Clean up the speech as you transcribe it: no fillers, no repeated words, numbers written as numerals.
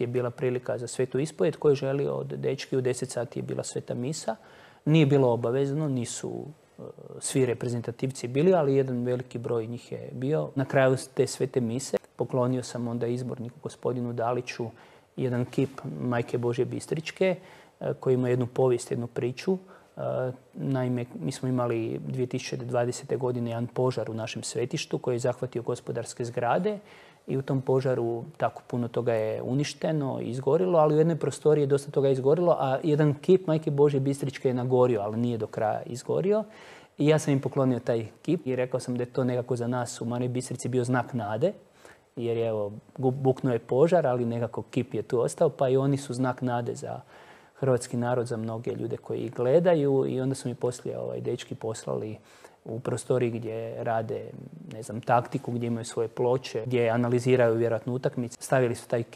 je bila prilika za svetu ispovijed. Ko je želio od dečki u 10 sati je bila sveta misa. Nije bilo obavezno, nisu svi reprezentativci bili, ali jedan veliki broj njih je bio. Na kraju te svete mise poklonio sam onda izborniku gospodinu Daliću jedan kip Majke Božje Bistričke koji ima jednu povijest, jednu priču. Naime, mi smo imali 2020. godine jedan požar u našem svetištu koji je zahvatio gospodarske zgrade i u tom požaru tako puno toga je uništeno i izgorilo, ali u jednoj prostoriji je dosta toga izgorilo, a jedan kip Majke Božje Bistričke je nagorio, ali nije do kraja izgorio. I ja sam im poklonio taj kip i rekao sam da je to nekako za nas u Mariji Bistrici bio znak nade, jer je buknuo je požar, ali nekako kip je tu ostao, pa i oni su znak nade za hrvatski narod, za mnoge ljude koji ih gledaju. I onda su mi poslije dečki poslali u prostoriji gdje rade, taktiku, gdje imaju svoje ploče, gdje analiziraju vjerojatno utakmice. Stavili su taj kip